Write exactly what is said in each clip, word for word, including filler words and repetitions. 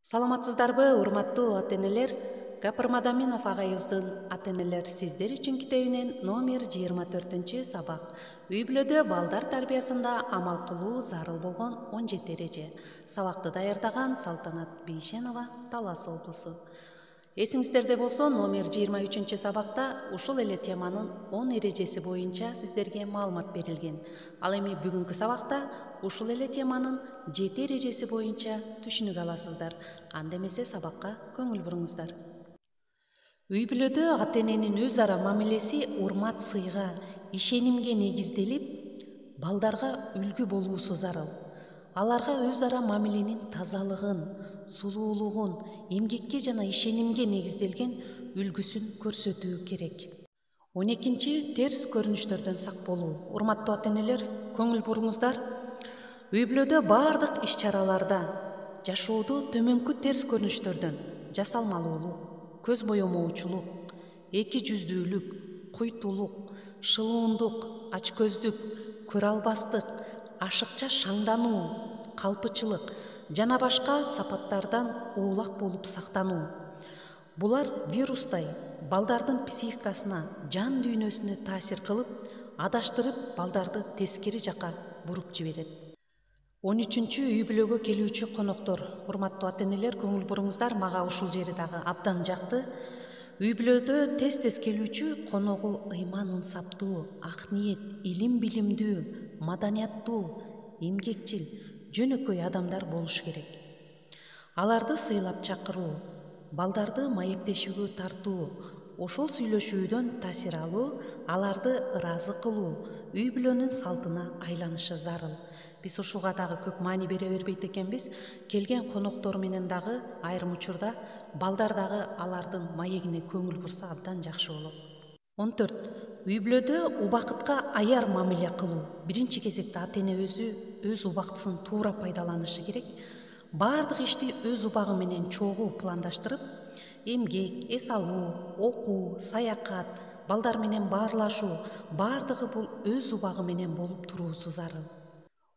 Саламатсыздарбы, урматтуу ата-энелер? Гапыр Мадаминов агайыбыздын ата-энелер сиздер үчүн китебинен номер жыйырма төртүнчү сабак. Үй бүлөдө балдар тарбиясында амал кылуу зарыл болгон он жети эреже. Сабакты даярдаган Салтанат Бейшенова, Талас облусу. Эсиңиздерде болсо, номер жыйырма үчүнчү сабакта ушул эле теманын он эрежеси боюнча сиздерге маалымат берилген. Ал эми бүгүнкү сабакта ушул эле теманын жети эрежеси боюнча түшүнүк аласыздар. Анда эмесе сабакка көңүл буруңуздар. Үй бүлөдө ата-эненин өз ара мамилеси урмат, сыйга, ишенимге негизделип, балдарга үлгү болуусу зарыл. Аларга өз ара мамиленин тазалыгын, сулуулугун, эмгекке жана ишенимге негизделген үлгүсүн көрсөтүү керек. он экинчи терс көрүнүштөрдөн сак болуу. Урматтуу ата-энелер, көңүл буруңуздар. Үй бүлөдө баардык иш-чараларда жашоодо төмөнкү терс көрүнүштөрдөн жасалмалуулук, көз боемоочулук, эки жүздүүлүк, куйтулук, шылуундук, ачкөздүк, көрө албастык, ашыкча шаңдануу, калпычылык жана башка сапаттардан оолак болуп сактануу. Булар вирустай балдардын психикасына, жан дүйнөсүнө таасир кылып, адаштырып, балдарды тескери жакка буруп жиберет. он үчүнчү үй бүлөгө келүүчү коноктор. Урматтуу ата-энелер, көңүл буруңуздар, мага ушул жери дагы абдан жакты. Үй бүлөдө тез-тез келүүчү коногу ыйман ынсаптуу, ак ниет, илим билимдүү, маданияттуу, эмгекчил, жөнөкөй адамдар болуш керек. Аларды сыйлап чакыруу, балдарды маектешүүгө тартуу, ошол сүйлөшүүдөн таасир алуу, аларды ыраазы кылуу үй бүлөнүн салтына айланышы зарыл. Биз ушуга дагы көп маани бере бербейт экенбиз. Келген коноктор менен дагы айрым учурда балдар дагы алардын маегине көңүл бурса абдан жакшы болот. он төрт. Үй бүлөдө убакытка аяр мамиле кылуу. Биринчи кезекте ата-эне өзү өз убактысын туура пайдаланышы керек. Бардык ишти өз убагы менен чогуу пландаштырып, эмгек, эс алуу, окуу, саякат, балдар менен баарлашуу, бардыгы бул өз убагы менен болуп туруусу зарыл.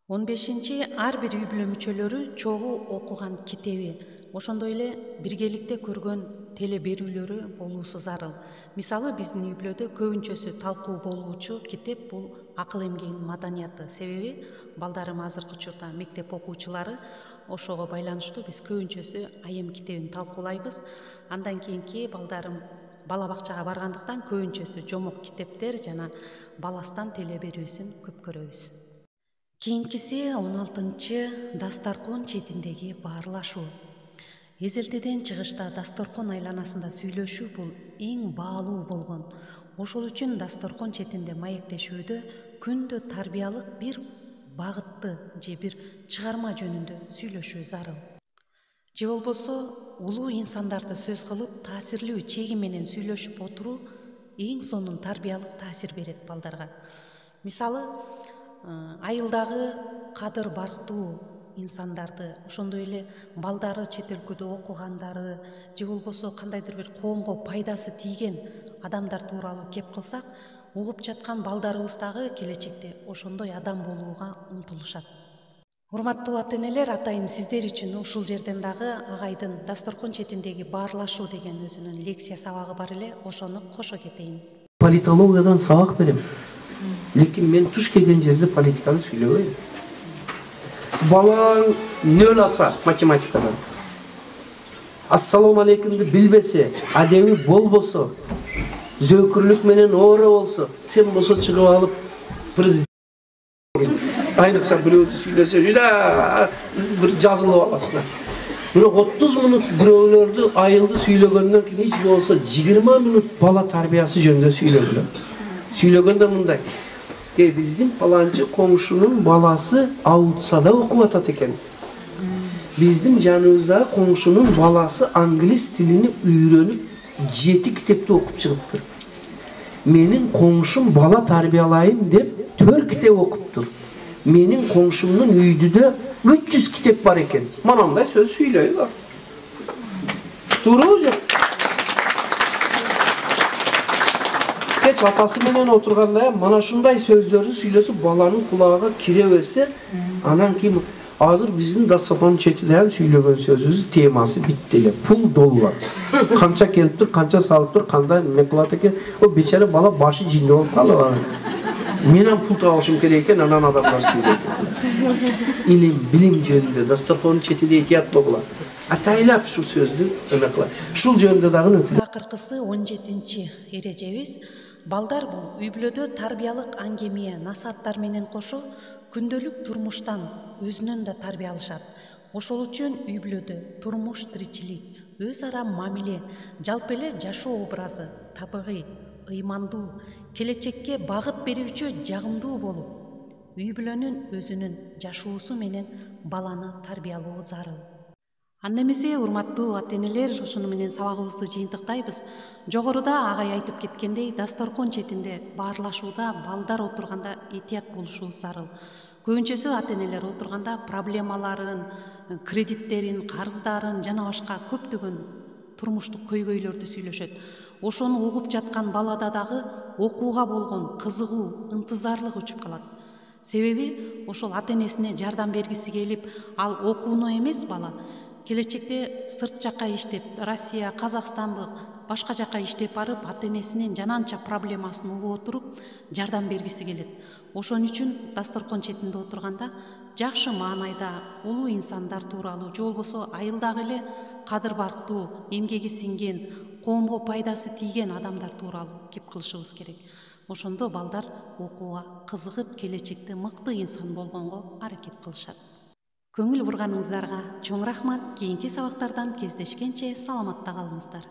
он бешинчи. Ар бир үй бүлө мүчөлөрү чогуу окуган китеби, ошондой эле биргеликте көргөн теле берүүлөрү болуусу зарыл. Мисалы, биздин үй бүлөдө көбүнчөсү талкуу болуучу китеп бул акыл эмгегинин маданияты. Себеби балдарым азыркы учурда мектеп окуучулары, ошого байланыштуу биз көбүнчөсү айым китебин талкуулайбыз. Андан кийинки балдарым бала бакчага баргандыктан көбүнчөсү жомок китептер жана баластан теле берүүсүн көп көрөбүз. Кийинкиси он алтынчы. Дасторкон четиндеги баарлашуу. Эзелтеден чыгышта дасторкон айланасында сүйлөшүү бул эң баалуу болгон. Ошол үчүн дасторкон четинде маектешүүдө күндө тарбиялык бир багытты же бир чыгарма жөнүндө сүйлөшүү зарыл. Же болбосо улуу инсандарды сөз кылып, таасирлүү чеги менен сүйлөшүп отуруу эң сонун тарбиялык таасир берет балдарга. Мисалы, айылдагы кадыр барктуу инсандарды, ошондой эле балдары чет өлкөдө окугандары, же болбосо кандайдыр бир коомго пайдасы тийген адамдар тууралуу кеп кылсак, угуп жаткан балдарыбыз дагы келечекте ошондой адам болууга умтулушат. Урматтуу ата-энелер, атайын сиздер үчүн ушул жерден дагы агайдын дасторкон четиндеги баарлашуу деген өзүнүн лекция сабагы бар эле, ошону кошо кетейин. Политологиядан сабак берем. Лекин мен туш келген жерде политиканы сүйлөбөйм. Балаң нөл аса математикадан, ассалам алейкумду билбесе, адеби болбосо, зөөкүрлүк менен оора болсо, сен болсо чыгып алып президент айныкса бирөөдү сүйлөсө, жуда бир жазылып аласың. Бирок отуз мүнөт бирөөлөрдү айылды сүйлөгөндөн кийин эч болсо жыйырма мүнөт бала тарбиясы жөнүндө сүйлөгүлө. Сүйлөгөндө мындай: Э, биздин паланчы коңшунун баласы аутсада окуп атат экен. Биздин жаныбызда коңшунун баласы англис тилини үйрөнүп, жети китепти окуп чыгыптыр. Менин коңшум бала тарбиялайым деп төрт китеп окуптур. Менин коңшумдун үйдүдө үч жүз китеп бар экен. Манандай сөз сүйлөйбү. Туурабы же? Кеч атасы менен отурганда мана ушундай сөздөрдү сүйлөсүп баланын кулагына кире берсе, анан кийин азыр биздин дастаркандын четинде сүйлөгөн сөзүбүз темасы битти эле. Пул доллар. Канча келиптир, канча салыптыр, кандай эме кылат экен. О бечара бала башы жинде болуп калды. Менен пул табышым керек экен, анан адамдар сүйлөйт. Илим, билим жөнүндө дастаркандын четинде этият болгула. Атайлап ушул сөздү эме кылат. Ушул жөнүндө дагы өтүп. Акыркысы он жетинчи эрежебиз балдар бул үй бүлөдө тарбиялык аңгеме, насааттар менен кошо күндөлүк турмуштан өзүнөн да тарбия алышат. Ошол үчүн үй бүлөдө турмуш, тиричилик, өз ара мамиле, жалпы эле жашоо образы табигый, ыймандуу, келечекке багыт берүүчү, жагымдуу болуп, үй бүлөнүн өзүнүн жашоосу менен баланы тарбиялоо зарыл. Анда эмесе, урматтуу ата-энелер, ошону менен сабагыбызды жыйынтыктайбыз. Жогоруда агай айтып кеткендей, дасторкон четинде баарлашууда балдар отурганда этият болушу зарыл. Көбүнчөсү ата-энелер отурганда проблемаларын, кредиттерин, карыздарын жана башка көптөгөн турмуштук көйгөйлөрдү сүйлөшөт. Ошону угуп жаткан балада дагы окууга болгон кызыгуу, ынтызарлык учуп калат. Себеби ошол ата-энесине жардам бергиси келип, ал окууну эмес бала келечекте сырт жакка иштеп, Россия, Казакстанбы, башка жакка иштеп барып, ата-энесинин жананча проблемасын угуп отуруп, жардам бергиси келет. Ошон үчүн дасторкон четинде отурганда жакшы маанайда улуу инсандар тууралуу, же болбосо айылдагы эле кадыр барктуу, эмгеги сиңген, коомго пайдасы тийген адамдар тууралуу кеп кылышыбыз керек. Ошондо балдар окууга кызыгып, келечекте мыкты инсан болгонго аракет кылышат. Көңүл бурганыңыздарга чоң рахмат. Кийинки сабактардан кездешкенче саламатта калыңыздар.